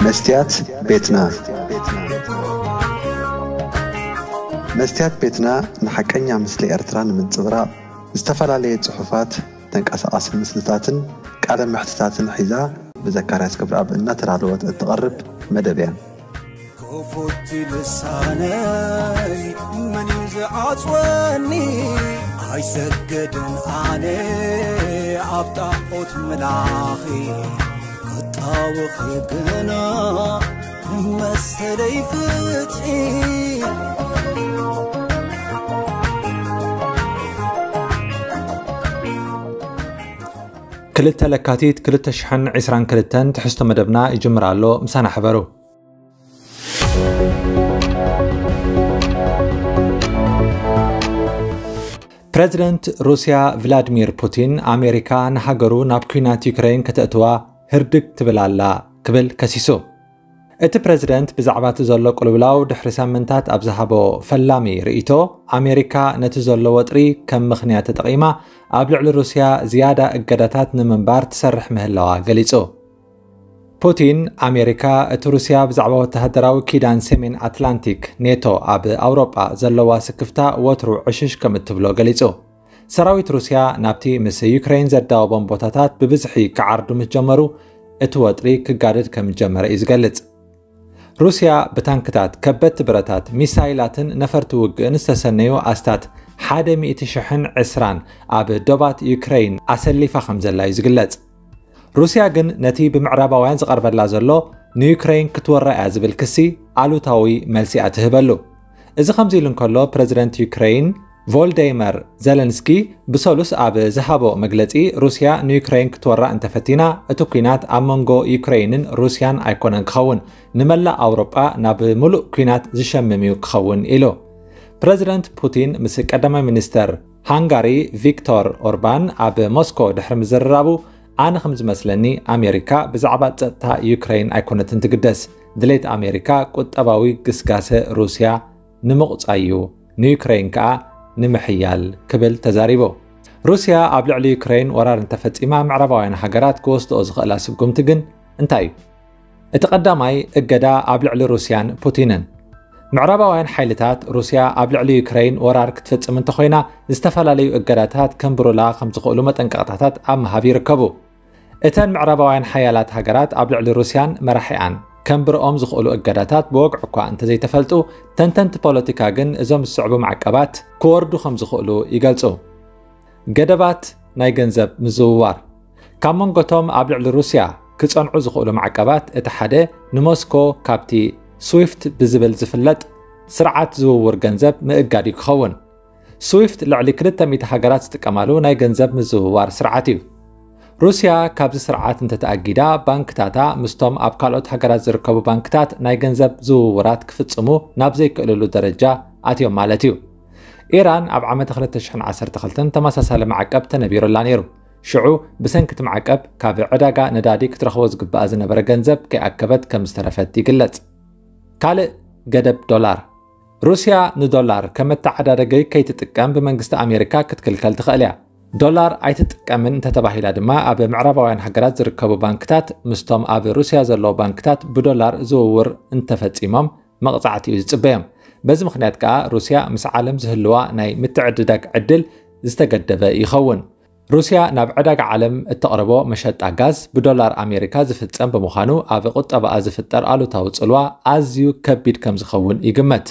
መስትያት ቤትና። መስትያት ቤትና ንሓቀኛ ምስሊ ኤርትራ ንምንጽብራቕ ዝተፈላለየ ጽሑፋት፣ ተንቀሳቓሲ ምስልታትን ቃለ መሕትታትን ሒዛ ብዘካርያስ ገብረኣብ እናተዳለወት እትቐርብ መደብ እያ። ክፉት ልሳነይ መን እዩ ዝዓጽወኒ? ኣይሰግድን ኣነ ኣብ ጣዖት ምላኺ፣ ክጣወኺ ግና መሰለይ ፍትሒ። ክልተ ለካቲት ክልተ ሽሕን ዕስራን ክልተን ትሕዝቶ መደብና ይጅምር ኣሎ። ምሳና ሕበሩ። ፕረዚደንት ሩስያ ቭላድሚር ፑቲን፣ ኣሜሪካ ንሃገሩ ናብ ኲናት ዩክሬን ከተእትዋ ህርድግ ትብል ኣላ ክብል ከሲሱ። እቲ ፕረዚደንት ብዛዕባ እቲ ዘሎ ቅልውላው ድሕሪ ሳምንታት ኣብ ዝሃቦ ፈላሚ ርእይቶ፣ ኣሜሪካ ነቲ ዘሎ ወጥሪ ከም ምኽንያት ተጠቒማ ኣብ ልዕሊ ሩስያ ዝያዳ እገዳታት ንምንባር ትሰርሕ ምህላዋ ገሊጹ። ፑቲን፣ ኣሜሪካ እቲ ሩስያ ብዛዕባ ወተሃደራዊ ኪዳን ሰሜን ኣትላንቲክ ኔቶ ኣብ ኣውሮጳ ዘለዋ ስክፍታ ወትሩ ዕሽሽ ከም እትብሎ ገሊጹ። ሰራዊት ሩስያ ናብቲ ምስ ዩክሬን ዘዳወቦም ቦታታት ብብዝሒ ክዓርዱ ምስ ጀመሩ፣ እቲ ወጥሪ ክጋደድ ከም ዝጀመረ እዩ ዝገልጽ። ሩስያ ብታንክታት፣ ከበድቲ ብረታት፣ ሚሳይላትን ነፈርቲ ውግእን ዝተሰነዩ ኣስታት ሓደ ሚእቲ ሽሕን ዕስራን ኣብ ዶባት ዩክሬን ኣሰሊፋ ከም ዘላ እዩ ዝግለጽ። ሩስያ ግን ነቲ ብምዕራባውያን ዝቐርበላ ዘሎ ንዩክሬን ክትወራ እያ ዝብል ክሲ ኣሉታዊ መልሲ እያ ትህበሉ። እዚ ከምዚ ኢሉ እንከሎ፣ ፕረዚደንት ዩክሬን ቮልደይመር ዘለንስኪ ብሰሉስ ኣብ ዝሃቦ መግለጺ፣ ሩስያ ንዩክሬን ክትወራ እንተፈቲና፣ እቲ ኲናት ኣብ መንጎ ዩክሬንን ሩስያን ኣይኮነን ክኸውን፣ ንመላእ ኣውሮጳ ናብ ምሉእ ኲናት ዝሸምም እዩ ክኸውን ኢሉ። ፕረዚደንት ፑቲን ምስ ቀዳማይ ሚኒስተር ሃንጋሪ ቪክቶር ኦርባን ኣብ ሞስኮ ድሕሪ ምዝርራቡ፣ ኣነ ከም ዝመስለኒ ኣሜሪካ ብዛዕባ ጸጥታ ዩክሬን ኣይኮነትን ትግደስ። ድሌት ኣሜሪካ ቁጠባዊ ግስጋሰ ሩስያ ንምቑጻይ እዩ፣ ንዩክሬን ከኣ ንምሕያል ክብል ተዛሪቡ። ሩስያ ኣብ ልዕሊ ዩክሬን ወራር እንተፈጺማ፣ ምዕራባውያን ሃገራት ክወስድኦ ዝኽእላ ስጉምቲ ግን እንታይ እዩ? እቲ ቀዳማይ እገዳ ኣብ ልዕሊ ሩስያን ፑቲንን። ምዕራባውያን ሓይልታት ሩስያ ኣብ ልዕሊ ዩክሬን ወራር ክትፍጽም እንተኾይና፣ ዝተፈላለዩ እገዳታት ከንብሩላ ከም ዝኽእሉ መጠንቀቕታታት ኣብ ምሃብ ይርከቡ። እተን ምዕራባውያን ሓያላት ሃገራት ኣብ ልዕሊ ሩስያን መራሒኣን ከንብርኦም ዝኽእሉ እገዳታት ብወግዒ እኳ እንተዘይተፈልጡ፣ ተንተንቲ ፖለቲካ ግን እዞም ዝስዕቡ ማዕቀባት ክወርዱ ከም ዝኽእሉ ይገልጹ። ገደባት ናይ ገንዘብ ምዝውዋር። ካብ መንጎቶም ኣብ ልዕሊ ሩስያ ክጸንዑ ዝኽእሉ ማዕቀባት እቲ ሓደ ንሞስኮ ካብቲ ስዊፍት ብዝብል ዝፍለጥ ስርዓት ዝውውር ገንዘብ ምእጋድ እዩ ክኸውን። ስዊፍት ልዕሊ ክልተ ሚእቲ ሃገራት ዝጥቀማሉ ናይ ገንዘብ ምዝውዋር ስርዓት እዩ። ሩስያ ካብዚ ስርዓት እንተተኣጊዳ፣ ባንክታታ ምስቶም ኣብ ካልኦት ሃገራት ዝርከቡ ባንክታት ናይ ገንዘብ ዝውውራት ክፍጽሙ ናብ ዘይክእልሉ ደረጃ ኣትዮም ማለት እዩ። ኢራን ኣብ ዓመተ ክልተ ሽሕን ዓሰርተ ክልተን ተመሳሳሊ ማዕቀብ ተነቢሩላ ነይሩ። ሽዑ ብሰንኪ እቲ ማዕቀብ ካብ ዕዳጋ ነዳዲ ክትረኽቦ ዝግባኣ ዝነበረ ገንዘብ ከይኣከበት ከም ዝተረፈት ይግለጽ። ካልእ ገደብ ዶላር። ሩስያ ንዶላር ከም መተዓዳደጊ ከይትጥቀም ብመንግስቲ ኣሜሪካ ክትክልከል ትኽእል እያ። ዶላር ኣይትጥቀምን እንተተባሂላ ድማ፣ ኣብ ምዕራባውያን ሃገራት ዝርከቡ ባንክታት ምስቶም ኣብ ሩስያ ዘለዉ ባንክታት ብዶላር ዝውውር እንተፈጺሞም መቕጻዕቲ እዩ ዝጽበዮም። በዚ ምኽንያት ከኣ ሩስያ ምስ ዓለም ዝህልዋ ናይ ምትዕድዳግ ዕድል ዝተገደበ ይኸውን። ሩስያ ናብ ዕዳጋ ዓለም እተቕርቦ መሸጣ ጋዝ ብዶላር ኣሜሪካ ዝፍጸም ብምዃኑ፣ ኣብ ቁጠባኣ ዝፍጠር ኣሉታዊ ጽልዋ ኣዝዩ ከቢድ ከም ዝኸውን ይግመት።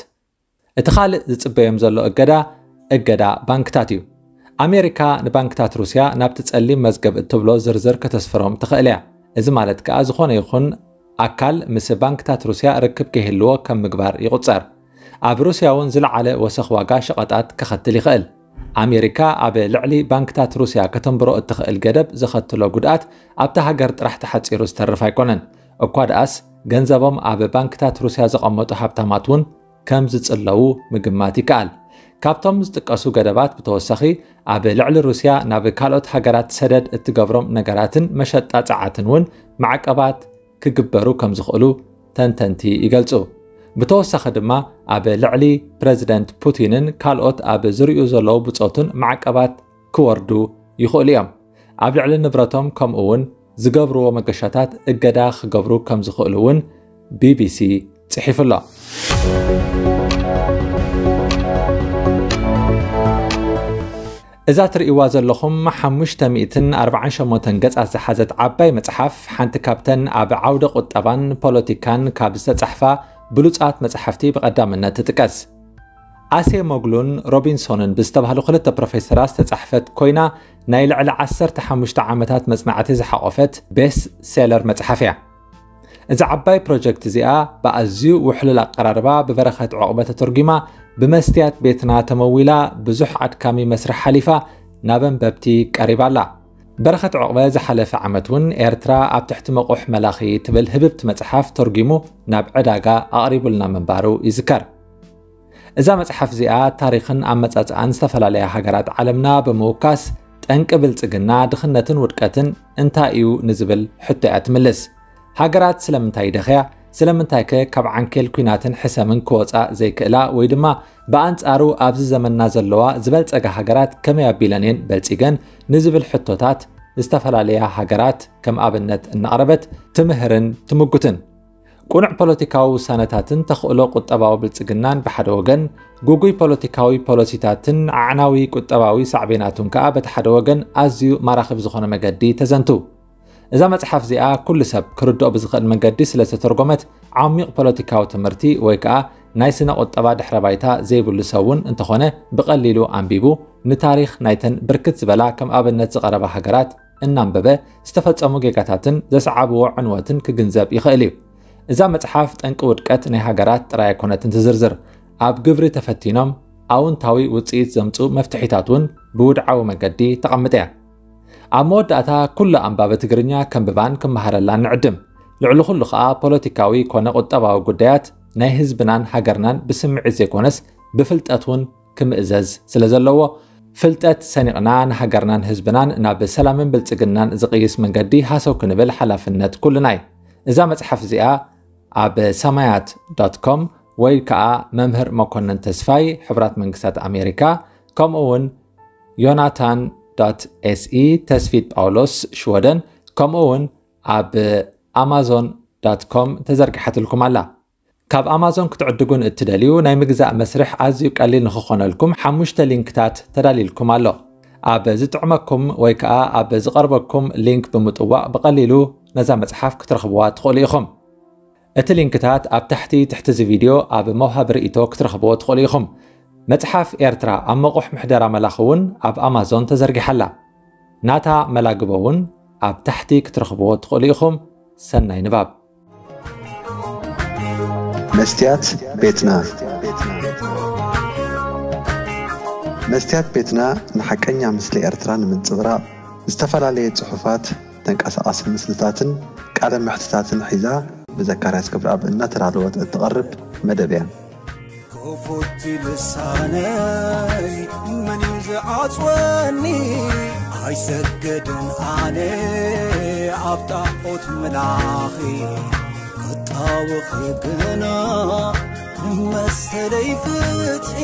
እቲ ካልእ ዝጽበዮም ዘሎ እገዳ፣ እገዳ ባንክታት እዩ። ኣሜሪካ ንባንክታት ሩስያ ናብቲ ጸሊም መዝገብ እትብሎ ዝርዝር ከተስፍሮም ትኽእል እያ። እዚ ማለት ከኣ፣ ዝኾነ ይኹን ኣካል ምስ ባንክታት ሩስያ ርክብ ከይህልዎ ከም ምግባር ይቑጸር። ኣብ ሩስያ እውን ዝለዓለ ወሰኽ ዋጋ ሸቐጣት ከኸትል ይኽእል። ኣሜሪካ ኣብ ልዕሊ ባንክታት ሩስያ ከተንብሮ እትኽእል ገደብ ዘኸትሎ ጉድኣት ኣብታ ሃገር ጥራሕ ተሓጺሩ ዝተርፍ ኣይኮነን። እኳ ደኣስ፣ ገንዘቦም ኣብ ባንክታት ሩስያ ዘቐመጡ ሃብታማት እውን ከም ዝጽለዉ ምግማት ይከኣል። ካብቶም ዝጥቀሱ ገደባት ብተወሳኺ፣ ኣብ ልዕሊ ሩስያ ናብ ካልኦት ሃገራት ሰደድ እትገብሮም ነገራትን መሸጣ ጸዓትን እውን ማዕቀባት ክግበሩ ከም ዝኽእሉ ተንተንቲ ይገልጹ። ብተወሳኺ ድማ፣ ኣብ ልዕሊ ፕረዚደንት ፑቲንን ካልኦት ኣብ ዝርኡ ዘለዉ ብጾቱን ማዕቀባት ክወርዱ ይኽእሉ እዮም። ኣብ ልዕሊ ንብረቶም፣ ከምኡ እውን ዝገብርዎ መገሻታት እገዳ ክገብሩ ከም ዝኽእሉ እውን ቢቢሲ ጽሒፉ ኣሎ። እዛ ትርእይዋ ዘለኹም ሓሙሽተ ሚእትን ኣርባዓን ሸሞንተን ገጻት ዝሓዘት ዓባይ መጽሓፍ፣ ሓንቲ ካብተን ኣብ ዓውደ ቁጠባን ፖለቲካን ካብ ዝተጻሕፋ ብሉጻት መጽሓፍቲ ብቐዳምነት ትጥቀስ። ኣሴ ሞግሉን ሮቢንሶንን ብዝተባህሉ ክልተ ፕሮፌሰራት ዝተጻሕፈት ኮይና፣ ናይ ልዕሊ ዓሰርተ ሓሙሽተ ዓመታት መጽናዕቲ ዝሓቖፈት ቤስት ሴለር መጽሓፍ እያ። እዛ ዓባይ ፕሮጀክት እዚኣ ብኣዝዩ ውሕሉል ኣቀራርባ ብበረኸት ዕቑበ ተተርጒማ፣ ብመስትያት ቤትና ተመዊላ፣ ብዙሕ ኣድካሚ መስርሕ ሓሊፋ፣ ናብ ኣንበብቲ ቀሪባ ኣላ። በረኸት ዕቑበ ዝሓለፈ ዓመት እውን ኤርትራ ኣብ ትሕቲ መቑሕ መላኺ ትብል ህብብቲ መጽሓፍ ተርጒሙ ናብ ዕዳጋ ኣቕሪቡልና ምንባሩ ይዝከር። እዛ መጽሓፍ እዚኣ ታሪኽን ኣመጻጽኣን ዝተፈላለያ ሃገራት ዓለምና ብምውካስ፣ ጠንቂ ብልጽግና፣ ድኽነትን ውድቀትን እንታይ እዩ ንዝብል ሕቶ እያ ትምልስ። ሃገራት ስለምንታይ ይደኽያ? ስለምንታይከ ካብ ዓንኬል ኲናትን ሕሰምን ክወጻ ዘይክእላ? ወይ ድማ ብኣንጻሩ ኣብዚ ዘመንና ዘለዋ ዝበልጸጋ ሃገራት ከመይ ኣቢለን እየን በልጺገን ንዝብል ሕቶታት ዝተፈላለያ ሃገራት ከም ኣብነት እናቕረበት ትምህርን ትምጉትን። ቅኑዕ ፖለቲካዊ ውሳነታትን ተኽእሎ ቁጠባዊ ብልጽግናን ብሓደ ወገን፣ ግጉይ ፖለቲካዊ ፖሊሲታትን ኣዕናዊ ቁጠባዊ ሳዕቤናቱን ከኣ በቲ ሓደ ወገን ኣዝዩ ማራኺ ብዝኾነ መገዲ ተዘንቱ። እዛ መጽሓፍ እዚኣ ኩሉ ሰብ ክርድኦ ብዝኽእል መንገዲ ስለ ዝተተርጎመት፣ ዓሚቕ ፖለቲካዊ ትምህርቲ ወይ ከኣ ናይ ስነ ቁጠባ ድሕረ ባይታ ዘይብሉ ሰብ እውን እንተኾነ ብቐሊሉ ኣንቢቡ ንታሪኽ ናይተን ብርክት ዝበላ ከም ኣብነት ዝቐረባ ሃገራት እናንበበ ዝተፈጸሙ ጌጋታትን ዘስዓብዎ ዕንወትን ክግንዘብ ይኽእል እዩ። እዛ መጽሓፍ ጠንቂ ውድቀት ናይ ሃገራት ጥራይ ኣይኮነትን ትዝርዝር። ኣብ ግብሪ ተፈቲኖም ኣውንታዊ ውጽኢት ዘምጽኡ መፍትሒታት እውን ብውድዓዊ መገዲ ተቐምጥ እያ። ኣብ መወዳእታ ኩሉ ኣንባቢ ትግርኛ ከንብባን ክመሃረላን ንዕድም። ልዕሊ ኩሉ ኸኣ ፖለቲካዊ ኮነ ቁጠባዊ ጉዳያት ናይ ህዝብናን ሃገርናን ብስምዒት ዘይኮነስ ብፍልጠት እውን ክምእዘዝ ስለ ዘለዎ፣ ፍልጠት ሰኒቕና ንሃገርናን ህዝብናን ናብ ሰላምን ብልጽግናን ዝቕይስ መንገዲ ሃሰው ክንብል ሓላፍነት ኩልና እዩ። እዛ መጽሓፍ እዚኣ ኣብ ሰማያት ዶት ኮም ወይ ከኣ መምህር መኮነን ተስፋይ፣ ሕቡራት መንግስታት ኣሜሪካ፣ ከምኡ እውን ዮናታን ዶት ኤስኢ፣ ተስፊት ጳውሎስ፣ ሽወደን፣ ከምኡ እውን ኣብ ኣማዞን ዶት ኮም ተዘርጊሓትልኩም ኣላ። ካብ ኣማዞን ክትዕድጉ ንእትደልዩ ናይ ምግዛእ መስርሕ ኣዝዩ ቀሊል ንኽኾነልኩም ሓሙሽተ ሊንክታት ተዳልይልኩም ኣሎ። ኣብ ዝጥዕመኩም ወይ ከኣ ኣብ ዝቐርበኩም ሊንክ ብምጥዋቕ ብቐሊሉ ነዛ መጽሓፍ ክትረኽብዋ ትኽእሉ ኢኹም። እቲ ሊንክታት ኣብ ታሕቲ ትሕቲ እዚ ቪድዮ ኣብ መውሃቢ ርእይቶ ክትረኽብዎ ትኽእሉ ኢኹም። መጽሓፍ ኤርትራ ኣብ መቑሕ ምሕደራ መላኺ እውን ኣብ ኣማዞን ተዘርጊሓ ኣላ። ናታ መላግቦ እውን ኣብ ታሕቲ ክትረኽብዎ ትኽእሉ ኢኹም። ሰናይ ንባብ። መስትያት ቤትና። መስትያት ቤትና ንሓቀኛ ምስሊ ኤርትራ ንምንጽብራቕ ዝተፈላለየ ጽሑፋት፣ ተንቀሳቓሲ ምስልታትን ቃለ መሕትታትን ሒዛ ብዘካርያስ ክብረኣብ እናተዳለወት እትቐርብ መደብ እያ። ክፉት ልሳነይ መን እዩ ዝዓጽወኒ? ኣይሰግድን ኣነ ኣብ ጣዖት ምላኺ፣ ክጣወኺ ግና መሰለይ ፍትሒ።